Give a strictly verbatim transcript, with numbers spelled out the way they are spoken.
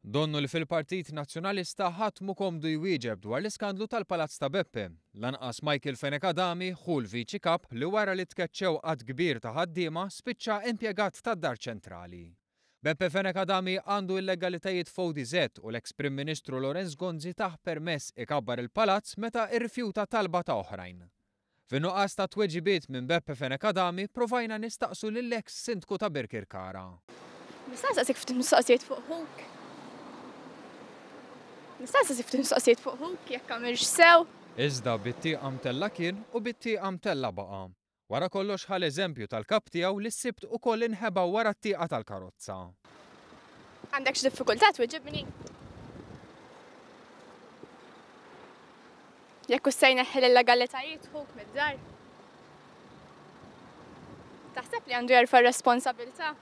Donnu li fil-Partit Nazzjonalista ħadd mhu komdu jwieġeb dwar l-iskandlu tal-Palazz ta' Beppe. Lanqas Michael Fenech Adami, ħu l-Viċi Kap li wara li tkeċċew għadd kbir ta' ħaddiema spiċċa impjegat tad-Dar Ċentrali. Beppe Fenech Adami għandu illegalitajiet f'O D Z u l-eks Prim Ministru Lawrence Gonzi tah permess ikabbar il-palazz meta irrifjuta talba ta' oħrajn. Fin-nuqqas ta' tweġibiet minn Beppe Fenech Adami provajna nistaqsu lill-eks sindku ta' Birkirkara. Nista' nistaqsik ftit mistoqsijiet fuq ħuk? Nista' nistaqsik ftit mistoqsijiet fuq ħuk jekk għamilx sew? Iżda bit-tieqa mtella kien u bit-tieqa mtella baqa'. Wara kollox ħa l-eżempju tal-kap tiegħu li s-Sibt ukoll inħeba wara t-tieqa tal-karozza. Għandek xi diffikultà tweġibni? Jekk hux se jneħħi l-illegalitajiet ħuk mid-dar? Taħseb li għandu jerfa' r-responsabilità?